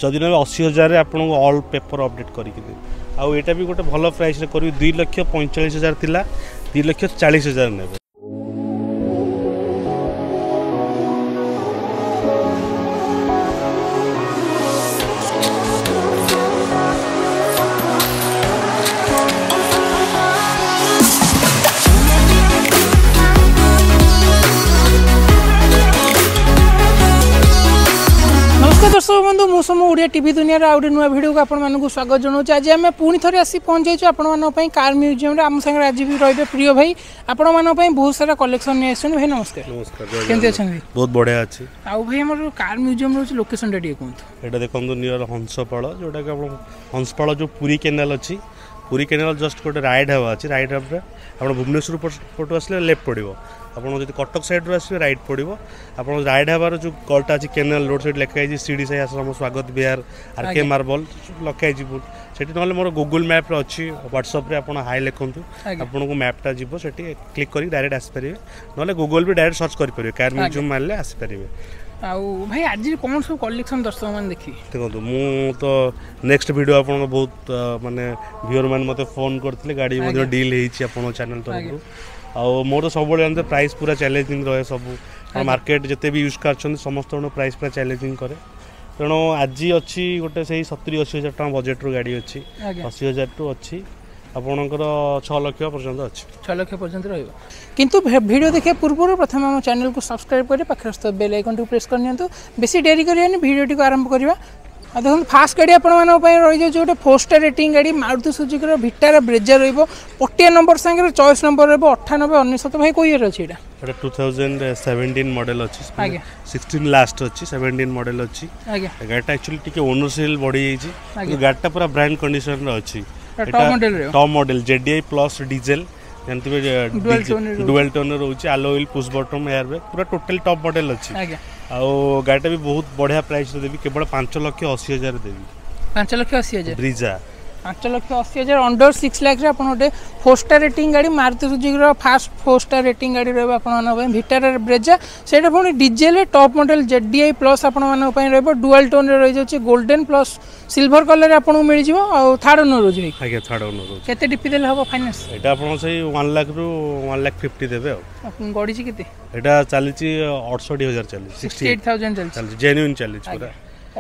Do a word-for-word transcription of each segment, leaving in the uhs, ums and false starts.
ଯଦି ନେବେ ଅଶୀ ହଜାରରେ ଆପଣଙ୍କୁ ଅଲ୍ ପେପର ଅପଡେଟ୍ କରିକି ଦେବି ଆଉ ଏଇଟା ବି ଗୋଟେ ଭଲ ପ୍ରାଇସ୍ରେ କରିବି ଦୁଇ ଲକ୍ଷ ପଇଁଚାଳିଶ ହଜାର ଥିଲା ଦୁଇ ଲକ୍ଷ ଚାଳିଶ ହଜାର ନେବେ ନମସ୍କାର ଦର୍ଶକ ବନ୍ଧୁ ମୁଁ ସୋମ ଓଡ଼ିଆ ଟିଭି ଦୁନିଆର ଆଉ ଗୋଟେ ନୂଆ ଭିଡ଼ିଓକୁ ଆପଣମାନଙ୍କୁ ସ୍ୱାଗତ ଜଣାଉଛି ଆଜି ଆମେ ପୁଣି ଥରେ ଆସି ପହଞ୍ଚିଯାଇଛୁ ଆପଣମାନଙ୍କ ପାଇଁ କାର୍ ମ୍ୟୁଜିୟମରେ ଆମ ସାଙ୍ଗରେ ଆଜି ବି ରହିବେ ପ୍ରିୟ ଭାଇ ଆପଣମାନଙ୍କ ପାଇଁ ବହୁତ ସାରା କଲେକ୍ସନ୍ ନେଇ ଆସିଛନ୍ତି ଭାଇ ନମସ୍କାର ନମସ୍କାର ଜୟ କେମିତି ଜଗନ୍ନାଥ। ଅଛନ୍ତି ବହୁତ ବଢ଼ିଆ ଅଛି ଆଉ ଭାଇ ଆମର କାର୍ ମ୍ୟୁଜିୟମ ରହୁଛି ଲୋକେସନଟା ଟିକେ କୁହନ୍ତୁ ଏଇଟା ଦେଖନ୍ତୁ ନିୟର ହଂସପାଳ ଯେଉଁଟାକି ଆପଣ ହଂସପାଳ ଯେଉଁ ପୁରୀ କେନାଲ ଅଛି ପୁରୀ କେନାଲ ଜଷ୍ଟ ଗୋଟେ ରାଇଟ୍ ହେବା ଅଛି ରାଇଟ୍ ହେବାରେ ଆପଣ ଭୁବନେଶ୍ୱର ପଟ- ପଟୁ ଆସିଲେ ଲେଫ୍ଟ ପଡ଼ିବ ଆପଣ ଯଦି କଟକ ସାଇଡ଼ରୁ ଆସିବେ ରାଇଟ୍ ପଡ଼ିବ ଆପଣ ରାଇଟ୍ ହେବାର ଯେଉଁ ଗଳିଟା ଅଛି କେନାଲ ରୋଡ଼ ସେଇଠି ଲେଖା ହେଇଛି ଶିରିଡ଼ି ସାଇ ଆଶ୍ରମ ସ୍ୱାଗତ ବିହାର ଆର୍ କେ ଆଜ୍ଞା। ମାର୍ବଲ ଲେଖା ହେଇଛି ବୋର୍ଡ଼ ସେଠି ନହେଲେ ମୋର ଗୁଗୁଲ୍ ମ୍ୟାପ୍ରେ ଅଛି ହ୍ୱାଟ୍ସଆପ୍ରେ ଆପଣ ହାଇ ଲେଖନ୍ତୁ ଆଜ୍ଞା। ଆପଣଙ୍କୁ ମ୍ୟାପ୍ଟା ଯିବ ସେଠି କ୍ଲିକ୍ କରିକି ଡାଇରେକ୍ଟ ଆସିପାରିବେ ନହେଲେ ଗୁଗୁଲ୍ ବି ଡାଇରେକ୍ଟ ସର୍ଚ୍ଚ କରିପାରିବେ କାର୍ ମ୍ୟୁଜିୟମ୍ ମାରିଲେ ଆସିପାରିବେ ଆଉ ଭାଇ ଆଜି କ'ଣ ସବୁ କଲେକ୍ସନ୍ ଦର୍ଶକମାନେ ଦେଖିବେ ଦେଖନ୍ତୁ ମୁଁ ତ ନେକ୍ସଟ ଭିଡ଼ିଓ ଆପଣଙ୍କ ବହୁତ ଅ, ମାନେ ଭିଓର ମାନେ ମୋତେ ଫୋନ୍ କରିଥିଲେ ଗାଡ଼ି ମଧ୍ୟ ଆଜ୍ଞା। ଡିଲ୍ ହେଇଛି ଆପଣଙ୍କ ଚ୍ୟାନେଲ୍ ତରଫରୁ ଆଉ ମୋର ସବୁବେଳେ ଜାଣିଥିବେ ପ୍ରାଇସ୍ ପୁରା ଚ୍ୟାଲେଞ୍ଜିଂ ରହେ ସବୁ ଆଜ୍ଞା। ମାର୍କେଟ ଯେତେ ବି ୟୁଜ୍ କାର୍ ଅଛନ୍ତି ସମସ୍ତଙ୍କ ପ୍ରାଇସ୍ ପୁରା ଚ୍ୟାଲେଞ୍ଜିଂ କରେ ତେଣୁ ଆଜି ଅଛି ଗୋଟେ ସେଇ ସତୁରି ଅଶୀ ହଜାର ଟଙ୍କା ବଜେଟ୍ରୁ ଗାଡ଼ି ଅଛି ଆଜ୍ଞା ଅଶୀ ହଜାରଠୁ ଅଛି ଆପଣଙ୍କର ଛଅ ଲକ୍ଷ ପର୍ଯ୍ୟନ୍ତ ଅଛି ଛଅ ଲକ୍ଷ ପର୍ଯ୍ୟନ୍ତ ରହିବ କିନ୍ତୁ ଭେ- ଭିଡ଼ିଓ ଦେଖିବା ପୂର୍ବରୁ ପ୍ରଥମେ ଆମ ଚ୍ୟାନେଲକୁ ସବସ୍କ୍ରାଇବ୍ କରି ପାଖରେ ଆସୁଥିବା ବେଲ୍ ଆଇକନ୍ଟିକୁ ପ୍ରେସ୍ କରିନିଅନ୍ତୁ ବେଶୀ ଡେରି କରିବାନି ଭିଡ଼ିଓଟିକୁ ଆରମ୍ଭ କରିବା ଆଉ ଦେଖନ୍ତୁ ଫାଷ୍ଟ ଗାଡ଼ି ଆପଣମାନଙ୍କ ପାଇଁ ରହିଯାଉଛି ଗୋଟେ ଫୋର୍ ଷ୍ଟାର୍ ରେଟିଂ ଗାଡ଼ି ମାରୁତି ସୁଜୁକିର ଭିଟାରା ବ୍ରେଜା ରହିବ ପଟିଆ ନମ୍ବର ସାଙ୍ଗରେ ଚଏସ୍ ନମ୍ବର ରହିବ ଅଠାନବେ ଅନେଶତ ଭାଇ କେଉଁ ଇୟର୍ ଅଛି ଏଇଟା ଏଇଟା ଟୁ ଥାଉଜେଣ୍ଡ ସେଭେଣ୍ଟିନ୍ ମଡ଼େଲ୍ ଅଛି ଆଜ୍ଞା। ସିକ୍ସଟିନ୍ ଲାଷ୍ଟ ଅଛି ସେଭେଣ୍ଟିନ୍ ମଡ଼େଲ୍ ଅଛି ଆଜ୍ଞା ଗାଡ଼ିଟା ଆକ୍ଚୁଆଲି ଟିକେ ଓନର ସେଲ୍ ବଢ଼ିଯାଇଛି ଆଜ୍ଞା। କିନ୍ତୁ ଗାଡ଼ିଟା ପୁରା ବ୍ରାଣ୍ଡ କଣ୍ଡିସନରେ ଅଛି ଟପ୍ ମଡ଼େଲ୍ ରହିବ ଟପ୍ ମଡ଼େଲ୍ ଜେଡିଆଇ ପ୍ଲସ୍ ଡିଜେଲ ଜାଣିଥିବେ Dual tone ରେ ରହୁଛି। ଡୁଏଲ୍ ଟୋନ୍ ରହୁଛି alloy wheel push button air bag ପୁରା ଟୋଟାଲ ଟପ୍ ମଡ଼େଲ୍ ଅଛି ଆଜ୍ଞା ଆଉ ଗାଡ଼ିଟା ବି ବହୁତ ବଢ଼ିଆ ପ୍ରାଇସ୍ରେ ଦେବି କେବଳ ପାଞ୍ଚ ଲକ୍ଷ ଅଶୀ ହଜାର ଦେବି ପାଞ୍ଚ ଲକ୍ଷ ଅଶୀ ହଜାର ବ୍ରିଜା ପାଞ୍ଚ ଲକ୍ଷ ଅଶୀ ହଜାର ଅଣ୍ଡର ସିକ୍ସ ଲାକ୍ସରେ ଆପଣ ଗୋଟେ ଫୋର୍ ଷ୍ଟାର୍ ରେଟିଂ ଗାଡ଼ି ମାରୁତି ସୁଜୁକିର ଫାଷ୍ଟ ଫୋର୍ ଷ୍ଟାର୍ ରେଟିଂ ଗାଡ଼ି ରହିବ ଆପଣମାନଙ୍କ ପାଇଁ ଭିଟାରା ବ୍ରେଜା ସେଇଟା ପୁଣି diesel top model Z D I plus ଆପଣମାନଙ୍କ ପାଇଁ ରହିବ ଡୁଆଲ୍ ଟୋନ୍ରେ ରହିଯାଉଛି ଗୋଲ୍ଡେନ୍ ପ୍ଲସ୍ ସିଲଭର କଲର୍ରେ ଆପଣଙ୍କୁ ମିଳିଯିବ ଆଉ ଥାର୍ଡ଼ ଓନର୍ ରହୁଛି ଭାଇ ଆଜ୍ଞା ଥାର୍ଡ଼ ଓନର ରହୁଛି କେତେ ଡିପି ଦେଲେ ହେବ ଫାଇନାନ୍ସ ଏଇଟା ଆପଣ ସେଇ ୱାନ୍ ଲାଖ୍ରୁ ୱାନ୍ ଲାଖ୍ ଫିଫ୍ଟି ଦେବେ ଆଉ ଗଡ଼ିଛି କେତେ ଏଇଟା ଚାଲିଛି ଅଠଷଠି ହଜାର ଚାଲିଛି ସିକ୍ସଟି ଏଇଟ୍ ଥାଉଜେଣ୍ଡ ଚାଲିଛି ଚାଲିଛି ଜେନ୍ୟୁନ୍ ଚାଲିଛି ପୁରା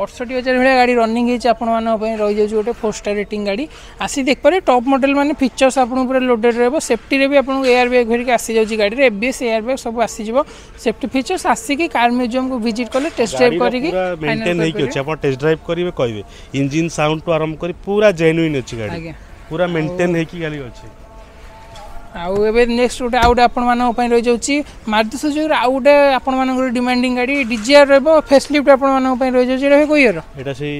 ଅଠଷଠି ହଜାର ଭଳିଆ ଗାଡ଼ି ରନିଂ ହେଇଛି ଆପଣମାନଙ୍କ ପାଇଁ ରହିଯାଉଛି ଗୋଟେ ଫୋର୍ ଷ୍ଟାର୍ ରେଟିଂ ଗାଡ଼ି ଆସି ଦେଖିପାରିବେ ଟପ୍ ମଡ଼େଲ୍ ମାନେ ଫିଚର୍ସ ଆପଣଙ୍କୁ ପୁରା ଲୋଡେଡ଼ ରହିବ ସେଫ୍ଟିରେ ବି ଆପଣଙ୍କୁ ଏୟାର ବ୍ୟାଗ୍ ଧରିକି ଆସିଯାଉଛି ଗାଡ଼ିରେ ଏବିଏସ୍ ଏୟାର ବ୍ୟାଗ୍ ସବୁ ଆସିଯିବ ସେଫ୍ଟି ଫିଚର୍ସ ଆସିକି କାର୍ ମ୍ୟୁଜିୟମକୁ ଭିଜିଟ୍ କଲେ ଟେଷ୍ଟ ଡ୍ରାଇଭ୍ ଗାଡ଼ିର କରିକି ପୁରା ମେଣ୍ଟେନ୍ ହେଇକି ଅଛି ଆପଣ ଟେଷ୍ଟ ଡ୍ରାଇଭ୍ କରିବେ କହିବେ ଇଞ୍ଜିନ୍ ସାଉଣ୍ଡ ଠୁ ଆରମ୍ଭ କରି ପୁରା ଜେନ୍ୟୁନ୍ ଅଛି ଗାଡ଼ି ଆଜ୍ଞା ପୁରା ମେଣ୍ଟେନ୍ ହେଇକି ଗାଡ଼ି ଅଛି ଆଉ ଏବେ ନେକ୍ସଟ ଗୋଟେ ଆଉ ଗୋଟେ ଆପଣମାନଙ୍କ ପାଇଁ ରହିଯାଉଛି ମାରୁତି ସୁଜୁକିର ଆଉ ଗୋଟେ ଆପଣମାନଙ୍କର ଡିମାଣ୍ଡିଂ ଗାଡ଼ି ଡିଜାୟାର ରହିବ ଫେସ୍ ଲିଫ୍ଟ ଆପଣମାନଙ୍କ ପାଇଁ ରହିଯାଉଛି ଏଇଟା ଭାଇ କେଉଁ ଇୟର ଏଇଟା ସେଇ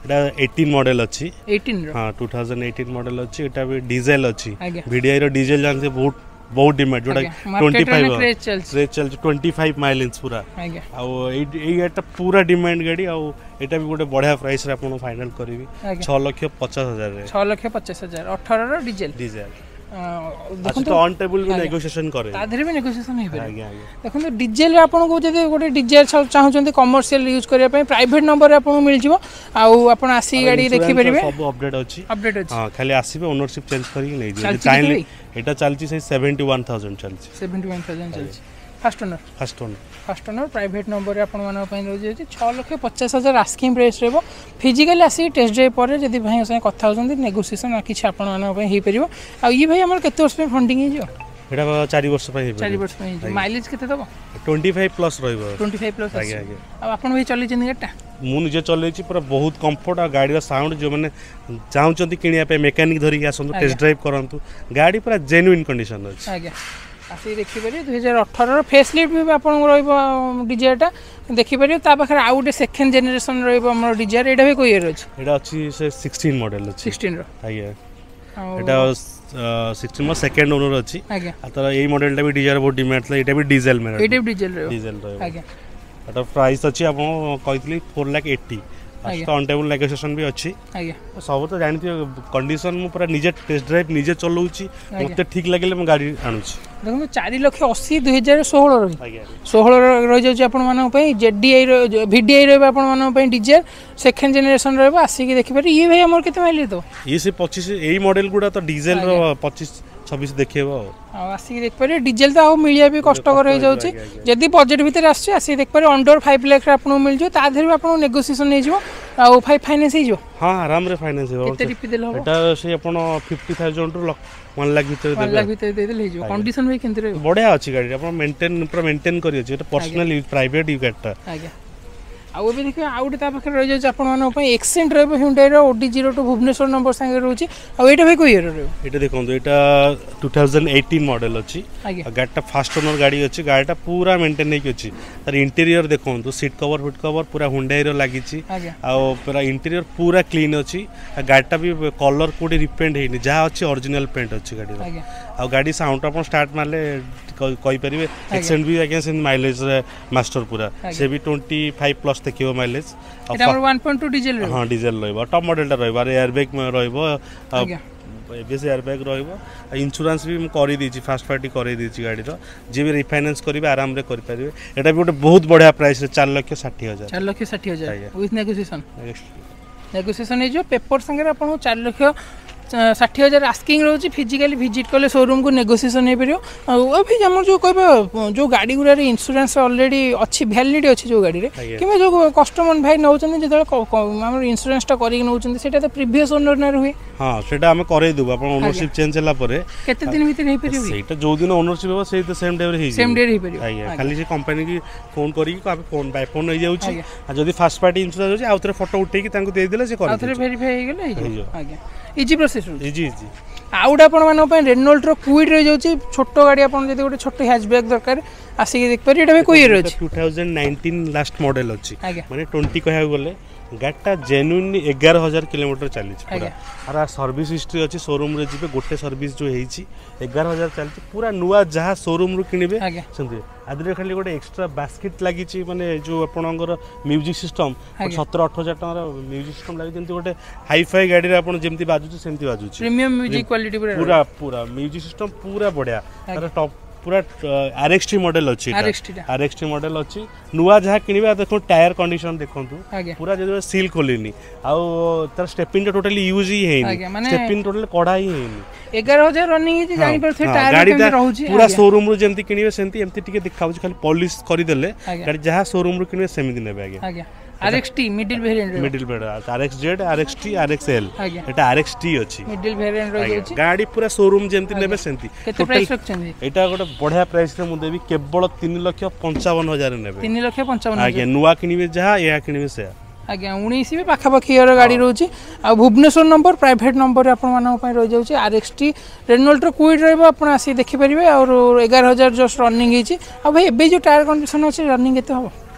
ଏଇଟା ଏଇଟିନ୍ ମଡ଼େଲ୍ ଅଛି ଏଇଟିନ୍ର ହଁ ଟୁ ଥାଉଜେଣ୍ଡ ଏଇଟିନ୍ ମଡ଼େଲ୍ ଅଛି ଏଇଟା ବି ଡିଜେଲ ଅଛି ଆଜ୍ଞା ଭିଡିଆଇ ର ଡିଜେଲ ଜାଣିଥିବେ ବହୁତ ବହୁତ ଡିମାଣ୍ଡ ଯୋଉଟା ଆଜ୍ଞା ଟ୍ୱେଣ୍ଟି ମାର୍କେଟରେ ଫାଇଭ୍ କ୍ରେଜ୍ ଚାଲିଛି କ୍ରେଜ୍ ଚାଲିଛି ଟ୍ୱେଣ୍ଟି ଫାଇଭ୍ ମାଇଲେଜ୍ ପୁରା ଆଜ୍ଞା ଆଉ ଏଇ ଏଇ ଗାଡ଼ିଟା ପୁରା ଡିମାଣ୍ଡ ଗାଡ଼ି ଆଉ ଏଇଟା ବି ଗୋଟେ ବଢ଼ିଆ ପ୍ରାଇସ୍ରେ ଆପଣ ଫାଇନାଲ୍ କରିବି ଆଜ୍ଞା ଛଅ ଲକ୍ଷ ପଚାଶ ହଜାରରେ ଛଅ ଲକ୍ଷ ପଚାଶ ହଜାର ଅଠରର ଡିଜେଲ ଡିଜେଲ ଆଚ୍ଛା ଦେଖନ୍ତୁ ତ ଅନ୍ ଟେବୁଲ ବି ଆଜ୍ଞା। ନେଗୋସିଏସନ୍ କରେ ତା ଦେହରେ ବି ନେଗୋସିଏସନ୍ ହେଇପାରିବ ଆଜ୍ଞା ଆଜ୍ଞା ଦେଖନ୍ତୁ ଡିଜେଲ ଆପଣଙ୍କୁ ଯଦି ଗୋଟେ ଡିଜେଲ ଚାହୁଁଛନ୍ତି କମର୍ସିଆଲ ୟୁଜ୍ କରିବା ପାଇଁ ପ୍ରାଇଭେଟ୍ ନମ୍ବରରେ ଆପଣଙ୍କୁ ମିଳିଯିବ ଆଉ ଆପଣ ଆସିକି ଗାଡ଼ି ଇନ୍ସୁରାନ୍ସ ଦେଖିପାରିବେ ସବୁ ଅପଡେଟ୍ ଅଛି ଅପଡେଟ୍ ଅଛି ହଁ ଖାଲି ଆସିବେ ଓନରସିପ୍ ଚେଞ୍ଜ କରିକି ନେଇଯିବେ ଚାଲିଛି ଚାହିଁଲେ କେତେ ଏଇଟା ଚାଲିଛି ସେଇ ସେଭେଣ୍ଟି ୱାନ୍ ଥାଉଜେଣ୍ଡ ଚାଲିଛି ସେଭେଣ୍ଟି ୱାନ୍ ଥାଉଜେଣ୍ଡ ଚାଲିଛି first owner first owner first owner private ନମ୍ବରରେ ଆପଣମାନଙ୍କ ପାଇଁ ରହିଯାଉଛି ଛଅ ଲକ୍ଷ ପଚାଶ ହଜାର ଆସ୍କିଂ ପ୍ରାଇସ୍ ରହିବ ଫିଜିକାଲି ଆସିକି ଟେଷ୍ଟ ଡ୍ରାଇଭ୍ ପରେ ଯଦି ଭାଇଙ୍କ ସାଙ୍ଗେ କଥା ହେଉଛନ୍ତି ନେଗୋସିଏସନ୍ କିଛି ଆପଣମାନଙ୍କ ପାଇଁ ହେଇପାରିବ ଆଉ ଇଏ ଭାଇ ଆମର କେତେ ବର୍ଷ ପାଇଁ ଫଣ୍ଡିଂ ହେଇଯିବ ଏଇଟା ଚାରି ବର୍ଷ ପାଇଁ ଚାରି ହେଇପାରିବ ବର୍ଷ ପାଇଁ ହେଇଯିବ ମାଇଲେଜ୍ କେତେ ଦେବ ଟ୍ୱେଣ୍ଟି ଫାଇଭ୍ ପ୍ଲସ୍ ରହିବ ଟ୍ୱେଣ୍ଟି ଫାଇଭ୍ ପ୍ଲସ୍ ଆଜ୍ଞା ଆଜ୍ଞା ଆଉ ଆପଣ ଭାଇ ଚଲେଇଛନ୍ତି ଗାଡ଼ିଟା ମୁଁ ନିଜେ ଚଲେଇଛି ପୁରା ବହୁତ କମ୍ଫର୍ଟ ଆଉ ଗାଡ଼ିର ସାଉଣ୍ଡ ଯେଉଁମାନେ ଚାହୁଁଛନ୍ତି କିଣିବା ପାଇଁ ମେକାନିକ୍ ଧରିକି ଆସନ୍ତୁ ଟେଷ୍ଟ ଡ୍ରାଇଭ୍ କରନ୍ତୁ ଗାଡ଼ି ପୁରା ଜେନ୍ୟୁନ୍ କଣ୍ଡିସନ୍ ଅଛି ଆଜ୍ଞା ଆସିକି ଦେଖିପାରିବେ ଦୁଇ ହଜାର ଅଠରର ଫେସ୍ ଲିଫ୍ଟ ବି ଆପଣଙ୍କୁ ରହିବ ଡିଜାୟାରଟା ଦେଖିପାରିବେ ତା ପାଖରେ ଆଉ ଗୋଟେ ସେକେଣ୍ଡ ଜେନେରେସନ୍ ରହିବ ଆମର ଡିଜାୟାର ଏଇଟା ବି କେଉଁ ଇୟର୍ ଅଛି ଏଇଟା ଅଛି ସେ ସିକ୍ସଟିନ୍ ମଡ଼େଲ୍ ଅଛି ସିକ୍ସଟିନ୍ର ଆଜ୍ଞା ଆଉ ଏଇଟା ସିକ୍ସଟିନ୍ ମୋ ସେକେଣ୍ଡ ଓନର୍ ଅଛି ଆଜ୍ଞା ଆଉ ତାର ଏଇ ମଡ଼େଲଟା ବି ଡିଜାୟାର ବହୁତ ଡିମାଣ୍ଡ ଥିଲା ଏଇଟା ବି ଡିଜେଲ ଏଇଟା ବି ଡିଜେଲ ରହିବ ଡିଜେଲ ରହିବ ଆଜ୍ଞା ଏଟା ପ୍ରାଇସ୍ ଅଛି ଆପଣ କହିଥିଲି ଫୋର୍ ଲାଖ୍ ଏଇଟି ଆଜ୍ଞା। ତ ଅନ୍ ଟେବୁଲ୍ ନେଗୋସିଏସନ୍ ବି ଅଛି ଆଜ୍ଞା ସବୁ ତ ଜାଣିଥିବେ କଣ୍ଡିସନ୍ ମୁଁ ପୁରା ନିଜେ ଟେଷ୍ଟ ଡ୍ରାଇଭ୍ ନିଜେ ଚଲାଉଛି ମୋତେ ଠିକ୍ ଲାଗିଲେ ମୁଁ ଗାଡ଼ି ଆଣୁଛି ଦେଖନ୍ତୁ ଚାରି ଲକ୍ଷ ଅଶୀ ଦୁଇ ହଜାର ଷୋହଳ ରହି ଆଜ୍ଞା ଷୋହଳ ରହିଯାଉଛି ଆପଣମାନଙ୍କ ପାଇଁ ଜେଡିଆଇ ଭିଡିଆଇ ରହିବ ଆପଣମାନଙ୍କ ପାଇଁ ଡିଜେଲ ସେକେଣ୍ଡ ଜେନେରେସନ୍ ରହିବ ଆସିକି ଦେଖିପାରିବେ ଇଏ ଭାଇ ଆମର କେତେ ମାଇଲେଜ ଦେବ ଇଏ ସେ ପଚିଶ ଏଇ ମଡେଲ ଗୁଡ଼ା ତ ଡିଜେଲର ପଚିଶ ଛବିଶ ଦେଖେଇବ ଆଉ ଆଉ ଆସିକି ଦେଖିପାରିବେ ଡିଜେଲ ତ ଆଉ ମିଳିବା ବି କଷ୍ଟକର ହେଇଯାଉଛି ଆଜ୍ଞା, ଆଜ୍ଞା। ଯଦି ବଜେଟ୍ ଭିତରେ ଆସୁଛି ଆସିକି ଦେଖିପାରିବେ ଅଣ୍ଡର ଫାଇଭ୍ ଲାକ୍ସରେ ଆପଣଙ୍କୁ ମିଳିଯିବ ତା ଦେହରେ ବି ଆପଣଙ୍କୁ ନେଗୋସିଏସନ୍ ହେଇଯିବ ଆଉ ଫାଇଭ୍ ଫାଇନାନ୍ସ ହେଇଯିବ ହଁ ଆରାମରେ ଫାଇନାନ୍ସ ହେବ କେତେ ଡିପି ଦେଲେ ହେବ ଏଟା ସେଇ ଆପଣ ଫିଫ୍ଟି ଥାଉଜେଣ୍ଡରୁ ୱାନ୍ ଲାખ ଭିତରେ ୱାନ୍ ଦେବେ ଲାખ ଭିତରେ ଦେଇଦେଲେ ହେଇଯିବ କଣ୍ଡିସନ୍ ଭାଇ କେମିତି ରହିବ ବଢ଼ିଆ ଅଛି ଗାଡ଼ି ଆପଣ ମେଣ୍ଟେନ୍ ପୁରା ମେଣ୍ଟେନ୍ କରି ଅଛି ଏଟା ପର୍ସନାଲ ୟୁଜ୍ ପ୍ରାଇଭେଟ୍ ୟୁଜ୍ ଗାଡ଼ିଟା ଆଜ୍ଞା ଆଉ ଏବେ ଦେଖିବେ ଆଉ ଗୋଟେ ତା ପାଖରେ ରହିଯାଉଛି ଆପଣମାନଙ୍କ ପାଇଁ ଏକ୍ସେଣ୍ଟ ରହିବ ହ୍ୟୁଣ୍ଡାଇର ଓଡି ଜିରୋ ଟୁ ଭୁବନେଶ୍ୱର ନମ୍ବର ସାଙ୍ଗରେ ରହୁଛି ଆଉ ଏଇଟା ଭାଇ କୋଉ ଇୟର ରହିବ ଏଇଟା ଦେଖନ୍ତୁ ଏଇଟା ଟୁ ଥାଉଜେଣ୍ଡ ଏଇଟିନ୍ ମଡେଲ ଅଛି ଆଜ୍ଞା ଆଉ ଗାଡ଼ିଟା ଫାଷ୍ଟ ଓନର ଗାଡ଼ି ଅଛି ଗାଡ଼ିଟା ପୁରା ମେଣ୍ଟେନ୍ ହେଇକି ଅଛି ତାର ଇଣ୍ଟେରିୟର ଦେଖନ୍ତୁ ସିଟ୍ କଭର ଫିଟ୍ କଭର ପୁରା ହୁଣ୍ଡାଇର ଲାଗିଛି ଆଜ୍ଞା ଆଉ ପୁରା ଇଣ୍ଟେରିୟର ପୁରା କ୍ଲିନ୍ ଅଛି ଆଉ ଗାଡ଼ିଟା ବି କଲର୍ କୋଉଠି ରିପେଣ୍ଟ ହେଇନି ଯାହା ଅଛି ଅରିଜିନାଲ ପେଣ୍ଟ ଅଛି ଗାଡ଼ିର ଆଜ୍ଞା ଆଉ ଗାଡ଼ି ସାଉଣ୍ଡ ଆପଣ ଷ୍ଟାର୍ଟ ମାରିଲେ କ- କହିପାରିବେ ଏକ୍ସେଣ୍ଟ ବି ଆଜ୍ଞା ସେମିତି ମାଇଲେଜରେ ମାଷ୍ଟର ପୁରା ସେ ବି ଟ୍ୱେଣ୍ଟି ଫାଇଭ୍ ପ୍ଲସ୍ ଦେଖିବ ମାଇଲେଜ ଆଉ ଏଇଟା ଆମର ୱାନ୍ ପଏଣ୍ଟ ଟୁ ଡିଜେଲ ରହିବ ହଁ ଡିଜେଲ ରହିବ ଟପ୍ ମଡେଲଟା ରହିବ ଆଉ ଏୟାର ବ୍ୟାଗ୍ ରହିବ ଆଉ ଆଜ୍ଞା ଏବିଏସ୍ ଏୟାର ବ୍ୟାଗ୍ ରହିବ ଆଉ ଇନ୍ସୁରାନ୍ସ ବି ମୁଁ କରିଦେଇଛି ଫାଷ୍ଟ ପାର୍ଟି କରେଇ ଦେଇଛି ଗାଡ଼ିର ଯିଏ ବି ରିଫାଇନାନ୍ସ କରିବେ ଆରାମରେ କରିପାରିବେ ଏଇଟା ବି ଗୋଟେ ବହୁତ ବଢ଼ିଆ ପ୍ରାଇସ୍ରେ ଚାରି ଲକ୍ଷ ଷାଠିଏ ହଜାର ଚାରି ଲକ୍ଷ ଷାଠିଏ ହଜାର ଆଜ୍ଞା। ୱିଥ୍ ନେଗୋସିଏସନ୍ ନେଗୋସିଏସନ୍ ହେଇଯିବ ପେପର ସାଙ୍ଗରେ ଆପଣଙ୍କୁ ଚାରି ଲକ୍ଷ ଷାଠିଏ ହଜାର ଆସ୍କିଂ ରହୁଛି ଫିଜିକାଲି ଭିଜିଟ୍ କଲେ ସୋରୁମ୍କୁ ନେଗୋସିଏସନ୍ ହେଇପାରିବ ଆଉ ଆଉ ଭାଇ ଆମର ଯେଉଁ କହିବା ଯେଉଁ ଗାଡ଼ି ଗୁଡ଼ାରେ ଇନ୍ସୁରାନ୍ସ ଅଲରେଡ଼ି ଅଛି ଭ୍ୟାଲିଡ୍ ଅଛି ଯେଉଁ ଗାଡ଼ିରେ ଆଜ୍ଞା। କିମ୍ବା ଯେଉଁ କଷ୍ଟମର ଭାଇ ନେଉଛନ୍ତି ଯେତେବେଳେ କ- କ- ଆମର ଇନ୍ସୁରାନ୍ସଟା କରିକି ନେଉଛନ୍ତି ସେଇଟା ତ ପ୍ରିଭିୟସ୍ ଓନର୍ ନାଁରେ ହୁଏ ହଁ ସେଇଟା ଆମେ କରେଇଦେବୁ ଆପଣ ଓନରସିପ୍ ଚେଞ୍ଜ ହେଲା ପରେ କେତେ ଦିନ ଭିତରେ ହେଇପାରିବ ସେଇଟା ଯୋଉ ଦିନ ଓନରସିପ୍ ହେବ ସେଇ ତ ସେମ୍ ଡେରେ ହେଇଯିବ ସେମ୍ ଡେରେ ହେଇପାରିବ ଆଜ୍ଞା ଖାଲି ସେ କମ୍ପାନୀ କି ଫୋନ୍ କରିକି ଆମେ ଫୋନ୍ ବାଇ ଫୋନ୍ ହେଇଯାଉଛି ଆଜ୍ଞା। ଆଉ ଯଦି ଫାଷ୍ଟ ପାର୍ଟି ଇନ୍ସୁରାନ୍ସ ଅଛି ଆଉ ଥରେ ଫଟୋ ଉଠେଇକି ତାଙ୍କୁ ଦେଇଦେଲେ ସେ ଆଉ ଥରେ କରିଦେବେ ଭେରିଫାଇ ହେଇଗଲେ ହେଇଯିବ ହେଇଯିବ। ଆଜ୍ଞା ଇଜି ପ୍ରୋସେସ୍ ରହୁଛି ଇଜି ଇଜି ଆଉ ଗୋଟେ ଆପଣମାନଙ୍କ ପାଇଁ ରେନୋଲ୍ଟର କୁଇଡ୍ ରହିଯାଉଛି ଛୋଟ ଗାଡ଼ି ଆପଣ ଯଦି ଗୋଟେ ଛୋଟ ହ୍ୟାଚବ୍ୟାକ୍ ଦରକାର ଆସିକି ଦେଖିପାରିବେ ଏଇଟା ଭାଇ କୋଉ ଇୟର ଅଛି two thousand nineteen last model ଅଛି ଆଜ୍ଞା ମାନେ ଟ୍ୱେଣ୍ଟି କହିବାକୁ ଗଲେ ଗାଡ଼ିଟା ଜେନ୍ୟୁନଲି ଏଗାର ହଜାର କିଲୋମିଟର ଚାଲିଛି ପୁରା ଆଜ୍ଞା। ଆର ସର୍ଭିସ୍ ହିଷ୍ଟ୍ରି ଅଛି ସୋରୁମ୍ରେ ଯିବେ ଗୋଟେ ସର୍ଭିସ୍ ଯେଉଁ ହେଇଛି ଏଗାର ହଜାର ଚାଲିଛି ପୁରା ନୂଆ ଯାହା ସୋରୁମ୍ରୁ କିଣିବେ ଆଜ୍ଞା ସେମିତି ଆଦିରେ ଖାଲି ଗୋଟେ ଏକ୍ସଟ୍ରା ବାସ୍କେଟ୍ ଲାଗିଛି ମାନେ ଯେଉଁ ଆପଣଙ୍କର ମ୍ୟୁଜିକ୍ ସିଷ୍ଟମ୍ ଆଜ୍ଞା। ସତର ଅଠର ହଜାର ଟଙ୍କାର ମ୍ୟୁଜିକ୍ ସିଷ୍ଟମ୍ ଲାଗିଛି ଯେମିତି ଗୋଟେ ହାଇଫାଇ ଗାଡ଼ିରେ ଆପଣ ଯେମିତି ବାଜୁଛି ସେମିତି ବାଜୁଛି ପ୍ରିମିୟମ୍ ମ୍ୟୁଜିକ୍ କ୍ୱାଲିଟି ପୁରା ପୁରା ପୁରା ମ୍ୟୁଜିକ୍ ସିଷ୍ଟମ୍ ପୁରା ବଢ଼ିଆ ତାର ଟପ୍ ପୁରା ଆର୍ ଏକ୍ସ ଟି ମଡେଲ ଅଛି ଆର୍ ଏକ୍ସ ଟିଟା ଆର୍ ଏକ୍ସ ଟି ମଡେଲ ଅଛି ନୂଆ ଯାହା କିଣିବେ ଆଉ ଦେଖନ୍ତୁ ଟାୟାର କଣ୍ଡିସନ ଦେଖନ୍ତୁ ଆଜ୍ଞା ପୁରା ଯେତେବେଳେ ସିଲ୍ ଖୋଲିନି ଆଉ ତାର ଷ୍ଟେପିନ୍ଟା ଟୋଟାଲି ୟୁଜ୍ ହିଁ ହେଇନି ଆଜ୍ଞା, ମାନେ- ଷ୍ଟେପିନ୍ ଟୋଟାଲି କଢ଼ା ହିଁ ହେଇନି ଏଗାର ହଜାର ରନିଂ ହେଇଛି ଜାଣିପାରୁଥିବେ ହଁ, ଟାୟାର ଗାଡ଼ିଟା କେମିତି ରହୁଛି ପୁରା ଆଜ୍ଞା। ସୋରୁମ୍ରୁ ଯେମିତି କିଣିବେ ସେମିତି ଏମିତି ଟିକେ ଦେଖାଉଛି ଖାଲି ପଲିସ୍ କରିଦେଲେ ଆଜ୍ଞା। ଗାଡ଼ି ଯାହା ସୋରୁମ୍ରୁ କିଣିବେ ସେମିତି ନେବେ ଆଜ୍ଞା ଆଜ୍ଞା ଆର୍ ଏକ୍ସ ଟି ମିଡିଲ୍ ଭେରିଏଣ୍ଟ ରହିବ ମିଡିଲ୍ ବେଡ୍ ଆର୍ ଏକ୍ସ ଜେଡ୍ ଆର୍ ଏକ୍ସ ଟି ଆର୍ ଏକ୍ସ ଏଲ୍ ଆଜ୍ଞା ଏଟା ଆର୍ ଏକ୍ସ ଟି ଅଛି ମିଡିଲ୍ ଭେରିଏଣ୍ଟ ରହିଯାଉଛି ଗାଡ଼ି ପୁରା ସୋରୁମ୍ ଯେମିତି ନେବେ ସେମିତି କେତେ Total price ରଖିଛନ୍ତି ଏଇଟା ଗୋଟେ ବଢ଼ିଆ ପ୍ରାଇସ୍ରେ ମୁଁ ଦେବି କେବଳ ତିନି ଲକ୍ଷ ପଞ୍ଚାବନ ହଜାର ନେବେ ତିନି ଲକ୍ଷ ପଞ୍ଚାବନ ହଜାର ଆଜ୍ଞା ନୂଆ କିଣିବେ ଯାହା ଏହା କିଣିବେ ସେୟା ଆଜ୍ଞା ଉଣେଇଶ ବି ପାଖାପାଖି ଇୟର ଗାଡ଼ି ରହୁଛି ଆଉ ଭୁବନେଶ୍ୱର ନମ୍ବର ପ୍ରାଇଭେଟ୍ ନମ୍ବରରେ ଆପଣମାନଙ୍କ ପାଇଁ ରହିଯାଉଛି ଆର୍ ଏକ୍ସ ଟି ରେନୋଲ୍ଟର କୁଇଡ୍ ରହିବ ଆପଣ ଆସିକି ଦେଖିପାରିବେ ଆଉ ଏଗାର ହଜାର ଜଷ୍ଟ ରନିଂ ହେଇଛି ଆଉ ଭାଇ ଏବେ ଯେଉଁ ଟାୟାର କଣ୍ଡିସନ୍ ଅଛି ରନିଂ କେତେ ହେବ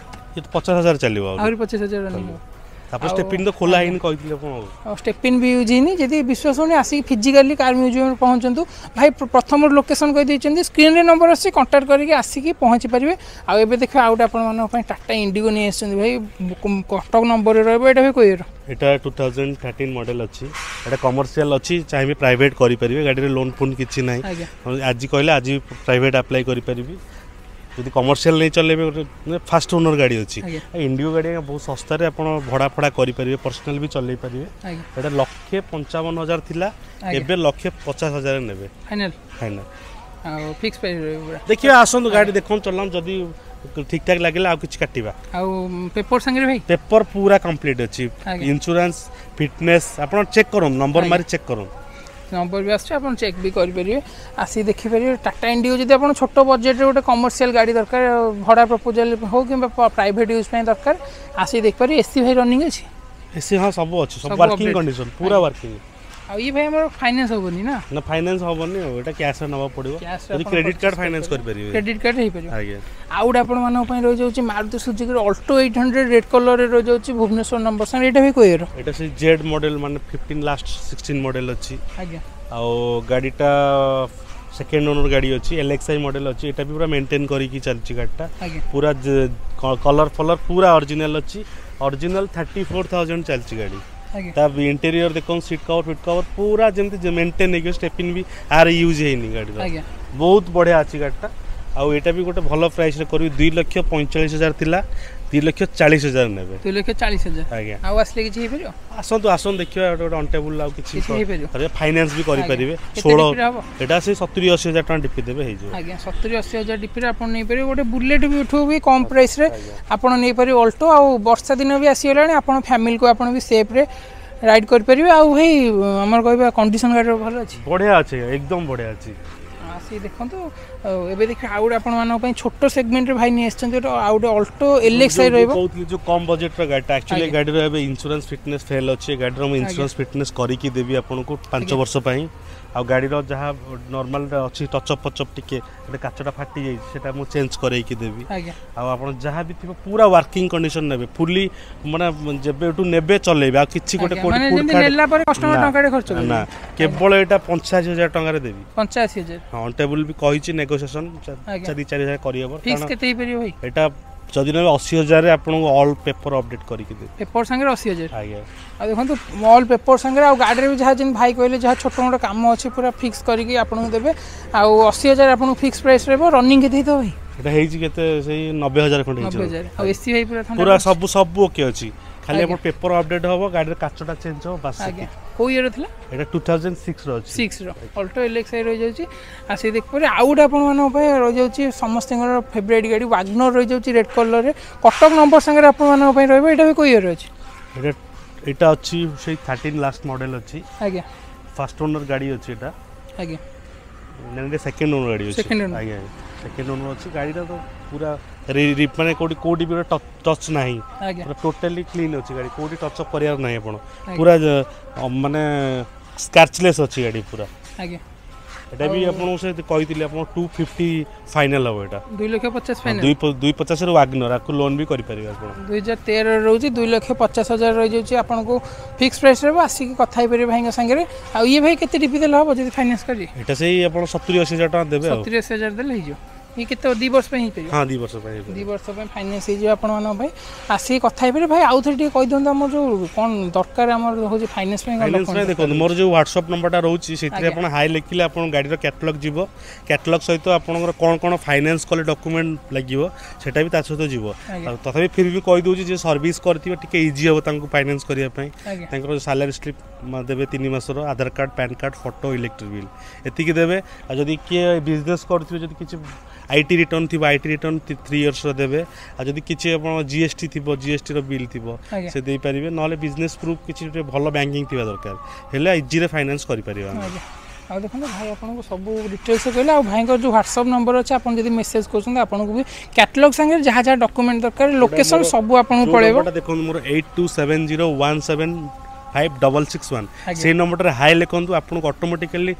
ଇଏ ତ ପଚାଶ ହଜାର ଚାଲିବ ଆଉ ଆହୁରି ପଚିଶ ହଜାର ରନିଂ ହେବ ତାପରେ ଷ୍ଟେପିନ୍ ତ ଖୋଲା ହେଇନି କହିଥିଲେ ଆପଣ ଆଉ ଆଉ ଷ୍ଟେପିନ୍ ବି ୟୁଜ୍ ହେଇନି ଯଦି ବିଶ୍ୱାସ ହେଉନି ଆସିକି ଫିଜିକାଲି କାର୍ ମ୍ୟୁଜିୟମ୍ରେ ପହଞ୍ଚନ୍ତୁ ଭାଇ ପ୍ର- ପ୍ରଥମରୁ ଲୋକେସନ୍ କହିଦେଇଛନ୍ତି ସ୍କ୍ରିନ୍ରେ ନମ୍ବର ଆସୁଛି କଣ୍ଟାକ୍ଟ କରିକି ଆସିକି ପହଞ୍ଚି ପାରିବେ ଆଉ ଏବେ ଦେଖିବେ ଆଉ ଗୋଟେ ଆପଣମାନଙ୍କ ପାଇଁ ଟାଟା ଇଣ୍ଡିଗୋ ନେଇ ଆସିଛନ୍ତି ଭାଇ କଟକ ନମ୍ବରରେ ରହିବ ଏଇଟା ଭାଇ କୋଉ ଇୟର ଏଇଟା ଟୁ ଥାଉଜେଣ୍ଡ ଥାର୍ଟିନ୍ ମଡେଲ ଅଛି ଏଇଟା କମର୍ସିଆଲ ଅଛି ଚାହିଁବେ ପ୍ରାଇଭେଟ୍ କରିପାରିବେ ଗାଡ଼ିରେ ଲୋନ୍ ଫୋନ୍ କିଛି ନାହିଁ ଆଜ୍ଞା ଆଜି କହିଲେ ଆଜି ପ୍ରାଇଭେଟ୍ ଆପ୍ଲାଏ କରିପାରିବି ଯଦି କମର୍ସିଆଲ ନେଇ ଚଲେଇବେ ଗୋଟେ ଫାଷ୍ଟ ଓନର ଗାଡ଼ି ଅଛି ଆଜ୍ଞା ଇଣ୍ଡିଗୋ ଗାଡ଼ି ଆଜ୍ଞା ବହୁତ ଶସ୍ତାରେ ଆପଣ ଭଡ଼ା ଫଡ଼ା କରିପାରିବେ ପର୍ସନାଲ ବି ଚଲେଇ ପାରିବେ ଆଜ୍ଞା ଏଇଟା ଲକ୍ଷେ ପଞ୍ଚାବନ ହଜାର ଥିଲା ଆଜ୍ଞା। ଏବେ ଲକ୍ଷେ ପଚାଶ ହଜାର ନେବେ ଫାଇନାଲ୍ ଫାଇନାଲ ଆଉ ଫିକ୍ସ ପ୍ରାଇସ୍ ରହିବ ପୁରା ଦେଖିବା ଆସନ୍ତୁ ଗାଡ଼ି ଦେଖନ୍ତୁ ଚଲାନ୍ତୁ ଯଦି ଠିକ୍ ଠାକ୍ ଲାଗିଲା ଆଉ କିଛି କାଟିବା ଆଉ ପେପର ସାଙ୍ଗରେ ଭାଇ ପେପର ପୁରା କମ୍ପ୍ଲିଟ୍ ଅଛି ଆଜ୍ଞା। ଇନ୍ସୁରାନ୍ସ ଫିଟନେସ୍ ଆପଣ ଚେକ୍ କରନ୍ତୁ ନମ୍ବର ଆଜ୍ଞା। ମାରି ଚେକ୍ କରନ୍ତୁ ନମ୍ବର ବି ଆସୁଛି ଆପଣ ଚେକ୍ ବି କରିପାରିବେ ଆସିକି ଦେଖିପାରିବେ ଟାଟା ଇଣ୍ଡିଗୋ ଯଦି ଆପଣ ଛୋଟ ବଜେଟ୍ରେ ଗୋଟେ କମର୍ସିଆଲ ଗାଡ଼ି ଦରକାର ଭଡ଼ା ପ୍ରପୋଜାଲ ହଉ କିମ୍ବା ପ୍ରାଇଭେଟ୍ ୟୁଜ୍ ପାଇଁ ଦରକାର ଆସିକି ଦେଖିପାରିବେ ଏସି ଭାଇ ରନିଂ ଅଛି ଏସି ହଁ ସବୁ ଅଛି ସବୁ ସବୁ ୱାର୍କିଂ update। Condition ପୁରା ୱାର୍କିଂ ଆଉ ଇଏ ଭାଇ ଆମର ଫାଇନାନ୍ସ ହେବନି ନା ନା ଫାଇନାନ୍ସ ହବନି ଆଉ ଏଇଟା କ୍ୟାସ୍ରେ ନେବାକୁ ପଡ଼ିବ କ୍ୟାସ୍ରେ ଯଦି କ୍ରେଡିଟ୍ କାର୍ଡ ଫାଇନାନ୍ସ କରିପାରିବେ କ୍ରେଡିଟ୍ କାର୍ଡ଼ ହେଇପାରିବ ଆଜ୍ଞା ଆଉ ଗୋଟେ ଆପଣମାନଙ୍କ ପାଇଁ ରହିଯାଉଛି ମାରୁତି ସୁଜୁକିର ଅଲ୍ଟୋ ଏଇଟ୍ ହଣ୍ଡ୍ରେଡ଼ ରେଡ୍ କଲର୍ରେ ରହିଯାଉଛି ଭୁବନେଶ୍ୱର ନମ୍ବର ସାଙ୍ଗରେ ଏଇଟା ଭାଇ କୋଉ ଇୟର ଏଇଟା ସେଇ ଜେଡ୍ ମଡେଲ ମାନେ ଫିଫ୍ଟିନ୍ ଲାଷ୍ଟ ସିକ୍ସଟିନ୍ ମଡେଲ ଅଛି ଆଜ୍ଞା ଆଉ ଗାଡ଼ିଟା ସେକେଣ୍ଡ ଓନର ଗାଡ଼ି ଅଛି ଏଲ୍ ଏକ୍ସ I model ଅଛି ଏଇଟା ବି ପୁରା ମେଣ୍ଟେନ୍ କରିକି ଚାଲିଛି ଗାଡ଼ିଟା ଆଜ୍ଞା ପୁରା କଲର୍ ଫଲର୍ ପୁରା ଅରିଜିନାଲ୍ ଅଛି ଅରିଜିନାଲ ଥାର୍ଟି ଫୋର୍ ଥାଉଜେଣ୍ଡ ଚାଲିଛି ଗାଡ଼ି ଆଜ୍ଞା ତା ଇଣ୍ଟେରିୟର ଦେଖନ୍ତୁ ସିଟ୍ କଭର ଫିଟ୍ କଭର ପୁରା ଯେମିତି ମେଣ୍ଟେନ୍ ହେଇକି ଷ୍ଟେପିନ୍ ବି ଆର ୟୁଜ୍ ହେଇନି ଗାଡ଼ିର ଆଜ୍ଞା ବହୁତ ବଢ଼ିଆ ଅଛି ଗାଡ଼ିଟା ଆଉ ଏଇଟା ବି ଗୋଟେ ଭଲ ପ୍ରାଇସ୍ରେ କରିବି ଦୁଇ ଲକ୍ଷ ପଇଁଚାଳିଶ ହଜାର ଥିଲା ଦୁଇ ଲକ୍ଷ ଚାଳିଶ ହଜାର ନେବେ ଦୁଇ ଲକ୍ଷ ଚାଳିଶ ହଜାର ଆଜ୍ଞା ଆଉ ଆସିଲେ କିଛି ହେଇପାରିବ ଆସନ୍ତୁ ଆସନ୍ତୁ ଦେଖିବା ଗୋଟେ ଗୋଟେ ଅନ୍ ଟେବୁଲ୍ ଆଉ କିଛି କିଛି ହେଇପାରିବ ଫାଇନାନ୍ସ ବି କରିପାରିବେ କେତେ ଷୋହଳ ଡିପିରେ ହବ ଏଇଟା ସେଇ ସତୁରି ଅଶୀ ହଜାର ଟଙ୍କା ଡିପି ଦେବେ ହେଇଯିବ ଆଜ୍ଞା ସତୁରି ଅଶୀ ହଜାର ଡିପିରେ ଆପଣ ନେଇପାରିବେ ଗୋଟେ ବୁଲେଟ୍ ବି ଠୁ ବି କମ୍ ପ୍ରାଇସ୍ରେ ଆପଣ ନେଇପାରିବେ ଅଲ୍ଟୋ ଆଉ ବର୍ଷା ଦିନ ବି ଆସିଗଲାଣି ଆପଣ ଫ୍ୟାମିଲିକୁ ଆପଣ ବି ସେଫ୍ରେ ରାଇଡ୍ କରିପାରିବେ ଆଉ ଭାଇ ଆମର କହିବା କଣ୍ଡିସନ୍ ଗାଡ଼ିର ଭଲ ଅଛି ବଢ଼ିଆ ଅଛି ଏକଦମ ବଢ଼ିଆ ଅଛି ଆସିକି ଦେଖନ୍ତୁ ଆଉ ଏବେ ଦେଖିବେ ଆଉ ଗୋଟେ ଆପଣମାନଙ୍କ ପାଇଁ ଛୋଟ ସେଗମେଣ୍ଟରେ ଭାଇ ନେଇ ଆସିଛନ୍ତି ଗୋଟେ ଆଉ ଗୋଟେ ଅଲ୍ଟୋ ଏଲ୍ ଏକ୍ସ I ଯୋଉ ରହିବ କହୁଥିଲି ଯୋଉ କମ୍ ବଜେଟ୍ର ଗାଡ଼ିଟା ଆକ୍ଚୁଆଲି ଆଜ୍ଞା। ଗାଡ଼ିର ଏବେ ଇନ୍ସୁରାନ୍ସ ଫିଟନେସ୍ ଫେଲ୍ ଅଛି ଏ ଗାଡ଼ିର ମୁଁ ଇନ୍ସୁରାନ୍ସ ଫିଟନେସ୍ କରିକି ଦେବି ଆପଣଙ୍କୁ ପାଞ୍ଚ ଆଜ୍ଞା। ବର୍ଷ ପାଇଁ ଆଉ ଗାଡ଼ିର ଯାହା ନର୍ମାଲ ଅଛି ଟଚଅପ୍ ଫଚଅପ୍ ଟିକେ ଗୋଟେ କାଚଟା ଫାଟି ଯାଇଛି ସେଟା ମୁଁ ଚେଞ୍ଜ କରେଇକି ଦେବି ଆଜ୍ଞା ଆଉ ଆପଣ ଯାହା ବି ଥିବ ପୁରା ୱାର୍କିଂ କଣ୍ଡିସନ ନେବେ ଫୁଲି ମାନେ ଯେବେଠୁ ନେବେ ଚଲେଇବେ ଆଉ କିଛି ଗୋଟେ ଆଜ୍ଞା, କୋଉଠି ମାନେ ଫୁଡ୍ ଯେମିତି ଫାଡ୍ ନେଲା ପରେ କଷ୍ଟମର ନା, ଟଙ୍କାଟେ ଖର୍ଚ୍ଚ ନା କରିବେ କେବଳ ଏଇଟା ପଞ୍ଚାଅଶୀ ହଜାର ଟଙ୍କାରେ ଦେବି ପଞ୍ଚାଅଶୀ ହଜାର ହଁ ଅନ୍ ଟେବୁଲ୍ ବି କହିଛି ନେଗୋସିଏସନ୍ ଆଜ୍ଞା। ଚାରି ଚାରି ହଜାର କରିହେବ ଫିକ୍ସ କାରଣ କେତେ ହେଇପାରିବ ଭାଇ ଏଇଟା ଯଦି ନେବେ ଅଶୀ ହଜାରରେ ଆପଣଙ୍କୁ ଅଲ୍ ପେପର ଅପଡେଟ୍ କରିକି ଦେବି ପେପର ସାଙ୍ଗରେ ଅଶୀ ହଜାର ଆଜ୍ଞା ଆଉ ଦେଖନ୍ତୁ ଅଲ୍ ପେପର ସାଙ୍ଗରେ ଆଉ ଗାଡ଼ିରେ ବି ଯାହା ଯେମିତି ଭାଇ କହିଲେ ଯାହା ଛୋଟ ମୋଟ କାମ ଅଛି ପୁରା ଫିକ୍ସ କରିକି ଆପଣଙ୍କୁ ଦେବେ ଆଉ ଅଶୀ ହଜାର ଆପଣଙ୍କୁ ଫିକ୍ସ ପ୍ରାଇସ୍ ରହିବ ରନିଂ କେତେ ହେଇଥିବ ଭାଇ ଏଇଟା ହେଇଛି କେତେ ସେଇ ନବେ ହଜାର ଖଣ୍ଡେ ନବେ ହେଇଛି ହଜାର ଆଉ ଏସି ଭାଇ ପୁରା ଥଣ୍ଡା ପୁରା ସବୁ ସବୁ ଓକେ ଅଛି ଖାଲି ଆଜ୍ଞା। ଆପଣ ପେପର ଅପଡେଟ୍ ହବ ଗାଡ଼ିର କାଚଟା ଚେଞ୍ଜ ହବ ବାସ୍ ଆଜ୍ଞା ସେତିକି। କୋଉ ଇୟର ଥିଲା ଏଇଟା ଟୁ ଥାଉଜେଣ୍ଡ ସିକ୍ସର ଅଛି sixer Alto L X I ରହିଯାଉଛି ଆଉ ସେ ଦେଖିପାରିବେ ଆଉ ଗୋଟେ ଆପଣମାନଙ୍କ ପାଇଁ ରହିଯାଉଛି ସମସ୍ତଙ୍କର ଫେଭରାଇଟ୍ ଗାଡ଼ି ୱାଗନର ରହିଯାଉଛି ରେଡ୍ କଲର୍ରେ କଟକ ନମ୍ବର ସାଙ୍ଗରେ ଆପଣମାନଙ୍କ ପାଇଁ ରହିବ ଏଇଟା ବି କୋଉ ଇୟର ଅଛି ଏଇଟା ଏଇଟା ଅଛି ସେଇ ଥାର୍ଟିନ୍ ଲାଷ୍ଟ ମଡେଲ ଅଛି ଆଜ୍ଞା ଫାର୍ଷ୍ଟ ଓନର ଗାଡ଼ି ଅଛି ଏଇଟା ଆଜ୍ଞା ନା ଏଇଟା ସେକେଣ୍ଡ ଓନର ଗାଡ଼ି ଅଛି Second owner। ଆଜ୍ଞା ସେକେଣ୍ଡ ଓନର ଅଛି ଗାଡ଼ିଟା ତ ପୁରା ରି- ରି- ମାନେ କୋଉଠି କୋଉଠି ବି ଗୋଟେ ଟଚ୍ ନାହିଁ ଆଜ୍ଞା ପୁରା ଟୋଟାଲି କ୍ଲିନ୍ ଅଛି ଗାଡ଼ି କୋଉଠି ଟଚ୍ ଅପ୍ କରିବାର ନାହିଁ ଆପଣ ଆଜ୍ଞା। ପୁରା ଅ, ମାନେ ସ୍କ୍ରାଚଲେସ୍ ଅଛି ଗାଡ଼ି ପୁରା ଆଜ୍ଞା ଏଇଟା ବି ଆପଣଙ୍କୁ ସେ କହିଥିଲି ଆପଣ ଟୁ ଫିଫ୍ଟି ଫାଇନାଲ୍ ହେବ ଏଇଟା ଦୁଇ ଲକ୍ଷ ପଚାଶ ଫାଇନାଲ ଦୁଇ ପ- ଦୁଇ ପଚାଶରେ ୱାଗନର ଆକୁ ଲୋନ୍ ବି କରିପାରିବେ ଆପଣ ଦୁଇ ହଜାର ତେର ରହୁଛି ଦୁଇ ଲକ୍ଷ ପଚାଶ ହଜାର ରହିଯାଉଛି ଆପଣଙ୍କୁ ଫିକ୍ସ ପ୍ରାଇସ୍ ରହିବ ଆସିକି କଥା ହେଇପାରିବେ ଭାଇଙ୍କ ସାଙ୍ଗରେ ଆଉ ଇଏ ଭାଇ କେତେ ଡିପି ଦେଲେ ହେବ ଯଦି ଫାଇନାନ୍ସ କରିବେ ଏଇଟା ସେଇ ଆପଣ ସତୁରି ଅଶୀ ହଜାର ଟଙ୍କା ଦେବେ ଆଉ ସତୁରି ଅଶୀ ହଜାର ଦେଲେ ହେଇଯିବ ଇଏ କେତେ ଦୁଇ ବର୍ଷ ପାଇଁ ହେଇପାରିବ ହଁ ଦୁଇ ବର୍ଷ ପାଇଁ ହେଇପାରିବ। ଦୁଇ ବର୍ଷ ପାଇଁ ଫାଇନାନ୍ସ ହେଇଯିବ ଆପଣମାନଙ୍କ ପାଇଁ ଆସିକି କଥା ହେଇପାରିବେ ଭାଇ ଆଉ ଥରେ ଟିକେ କହିଦିଅନ୍ତୁ ଆମର ଯେଉଁ କ'ଣ ଦରକାର ଆମର ହେଉଛି ଫାଇନାନ୍ସ ପାଇଁ କ'ଣ ଫାଇନାନ୍ସ ପାଇଁ document ଦେଖନ୍ତୁ ମୋର ଯେଉଁ ହ୍ୱାଟ୍ସଅପ୍ ନମ୍ବରଟା ରହୁଛି ସେଥିରେ ଆଜ୍ଞା। ଆପଣ ହାଇ ଲେଖିଲେ ଆପଣ ଗାଡ଼ିର କ୍ୟାଟଲଗ୍ ଯିବ କ୍ୟାଟଲଗ୍ ସହିତ ଆପଣଙ୍କର କ'ଣ କ'ଣ ଫାଇନାନ୍ସ କଲେ ଡକୁମେଣ୍ଟ ଲାଗିବ ସେଟା ବି ତା ସହିତ ଯିବ ଆଜ୍ଞା। ଆଉ ତଥାପି ଫିର୍ ବି କହିଦେଉଛି ଯେ ସର୍ଭିସ୍ କରିଥିବେ ଟିକେ ଇଜି ହେବ ତାଙ୍କୁ ଫାଇନାନ୍ସ କରିବା ପାଇଁ ଆଜ୍ଞା ତାଙ୍କର ସାଲାରୀ ସ୍ଲିପ୍ ଦେବେ ତିନି ମାସର ଆଧାର card PAN card photo electric bill ଏତିକି ଦେବେ ଆଉ ଯଦି କିଏ ବିଜନେସ୍ କରୁଥିବେ ଯଦି କିଛି I T return ଥିବ I T return three ଇୟର୍ସର ଦେବେ ଆଉ ଯଦି କିଛି ଆପଣ ଜି ଏସ୍ ଟି ଥିବ ଜି ଏସ୍ ଟିର ବିଲ୍ ଥିବ ଆଜ୍ଞା। ସେ ଦେଇପାରିବେ ନହେଲେ ବିଜନେସ୍ ପ୍ରୁଫ୍ କିଛି ଗୋଟେ ଭଲ ବ୍ୟାଙ୍କିଂ ଥିବା ଦରକାର ହେଲେ ଇଜିରେ ଫାଇନାନ୍ସ କରିପାରିବା ଆମେ ଆଜ୍ଞା ଆଉ ଦେଖନ୍ତୁ ଭାଇ ଆପଣଙ୍କୁ ସବୁ ଡିଟେଲ୍ସ କହିଲେ ଆଉ ଭାଇଙ୍କର ଯେଉଁ ହ୍ୱାଟ୍ସଅପ୍ ନମ୍ବର ଅଛି ଆପଣ ଯଦି ମେସେଜ୍ କରୁଛନ୍ତି ଆପଣଙ୍କୁ ବି କ୍ୟାଟଲଗ୍ ସାଙ୍ଗରେ ଯାହା ଯାହା ଡକୁମେଣ୍ଟ ଦରକାର ଲୋକେସନ୍ ସବୁ ଆପଣଙ୍କୁ ଯୋଉ ପଳେଇବ ନମ୍ବରଟା ଦେଖନ୍ତୁ ମୋର eight two seven zero one seven five double six one ଆଜ୍ଞା। ସେଇ ନମ୍ବରଟାରେ ହାଇ ଲେଖନ୍ତୁ ଆପଣଙ୍କୁ ଅଟୋମେଟିକାଲି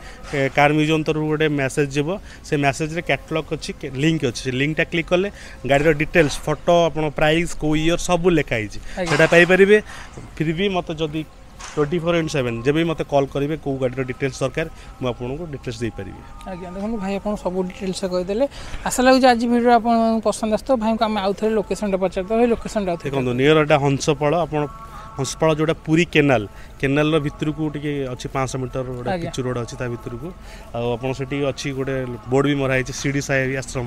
କାର୍ ମ୍ୟୁଜିୟମ୍ ତରଫରୁ ଗୋଟେ ମେସେଜ୍ ଯିବ ସେ ମେସେଜ୍ରେ କ୍ୟାଟଲଗ୍ ଅଛି ଲିଙ୍କ୍ ଅଛି ସେ ଲିଙ୍କ୍ଟା କ୍ଲିକ୍ କଲେ ଗାଡ଼ିର ଡିଟେଲ୍ସ ଫଟୋ ଆପଣ ପ୍ରାଇସ୍ କେଉଁ ଇୟର୍ ସବୁ ଲେଖା ହେଇଛି ଆଜ୍ଞା। ସେଟା ପାଇପାରିବେ ଫିର୍ ବି ମୋତେ ଯଦି ଟ୍ୱେଣ୍ଟି ଫୋର୍ ଇଣ୍ଟୁ ସେଭେନ୍ ଯେବେ ବି ମୋତେ କଲ୍ କରିବେ କେଉଁ ଗାଡ଼ିର ଡିଟେଲ୍ସ ଦରକାର ମୁଁ ଆପଣଙ୍କୁ ଡିଟେଲ୍ସ ଦେଇପାରିବି ଆଜ୍ଞା ଦେଖନ୍ତୁ ଭାଇ ଆପଣ ସବୁ ଡିଟେଲ୍ସ କହିଦେଲେ ଆଶା ଲାଗୁଛି ଆଜି ଭିଡ଼ିଓ ଆପଣଙ୍କୁ ପସନ୍ଦ ଆସିଥିବ ଭାଇଙ୍କୁ ଆମେ ଆଉ ଥରେ ଲୋକେସନ୍ଟା ପଚାରିଦେବା ଭାଇ ଲୋକେସନ୍ଟା ଆଉ ଥରେ ଦେଖନ୍ତୁ ନିୟର ଏଟା ହଂସପାଳ ଆପଣ ହଂସପାଳ ଯେଉଁଟା ପୁରୀ କେନାଲ କେନାଲର ଭିତରକୁ ଟିକେ ଅଛି ପାଞ୍ଚଶହ ମିଟର ଗୋଟେ ଆଜ୍ଞା। ପିଚୁ ରୋଡ଼ ଅଛି ତା ଭିତରକୁ ଆଉ ଆପଣ ସେଠି ଅଛି ଗୋଟେ ବୋର୍ଡ଼ ବି ମରା ହେଇଛି ଶିରିଡ଼ି ସାଇ ଆଶ୍ରମ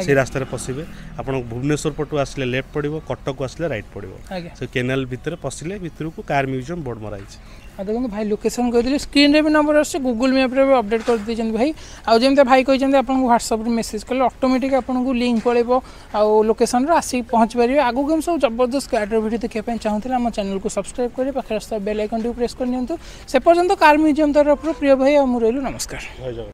ସେଇ ରାସ୍ତାରେ ପଶିବେ ଆପଣ ଭୁବନେଶ୍ୱର ପଟୁ ଆସିଲେ ଲେଫ୍ଟ ପଡ଼ିବ କଟକକୁ ଆସିଲେ ରାଇଟ୍ ପଡ଼ିବ ଆଜ୍ଞା ସେ କେନାଲ ଭିତରେ ପଶିଲେ ଭିତରକୁ କାର୍ ମ୍ୟୁଜିୟମ୍ ବୋର୍ଡ଼ ମରା ହେଇଛି ଆଉ ଦେଖନ୍ତୁ ଭାଇ ଲୋକେସନ୍ କହିଦେଲେ ସ୍କ୍ରିନ୍ରେ ବି ନମ୍ବର ଆସୁଛି ଗୁଗୁଲ୍ ମ୍ୟାପ୍ରେ ବି ଅପଡ଼େଟ୍ କରିଦେଇଛନ୍ତି ଭାଇ ଆଉ ଯେମିତି ଭାଇ କହିଛନ୍ତି ଆପଣଙ୍କୁ ହ୍ୱାଟ୍ସଆପ୍ରେ ମେସେଜ୍ କଲେ ଅଟୋମେଟିକ୍ ଆପଣଙ୍କୁ ଲିଙ୍କ୍ ପଳେଇବ ଆଉ ଲୋକେସନ୍ରେ ଆସିକି ପହଞ୍ଚି ପାରିବେ ଆଗକୁ ଏମିତି ସବୁ ଜବରଦସ୍ତ ଗାଡ଼ିର ଭିଡ଼ିଓ ଦେଖିବା ପାଇଁ ଚାହୁଁଥିଲେ ଆମ ଚ୍ୟାନେଲକୁ ସବସ୍କ୍ରାଇବ୍ କରି ପାଖରେ ଆସୁଥିବା ବେଲ୍ ଆଇକନ୍ଟିକୁ ପ୍ରେସ୍ କରିନିଅନ୍ତୁ ସେ ପର୍ଯ୍ୟନ୍ତ କାର୍ ମ୍ୟୁଜିୟମ୍ ତରଫରୁ ପ୍ରିୟ ଭାଇ ଆଉ ମୁଁ ରହିଲୁ ନମସ୍କାର ଜୟ ଜଗନ୍ନାଥ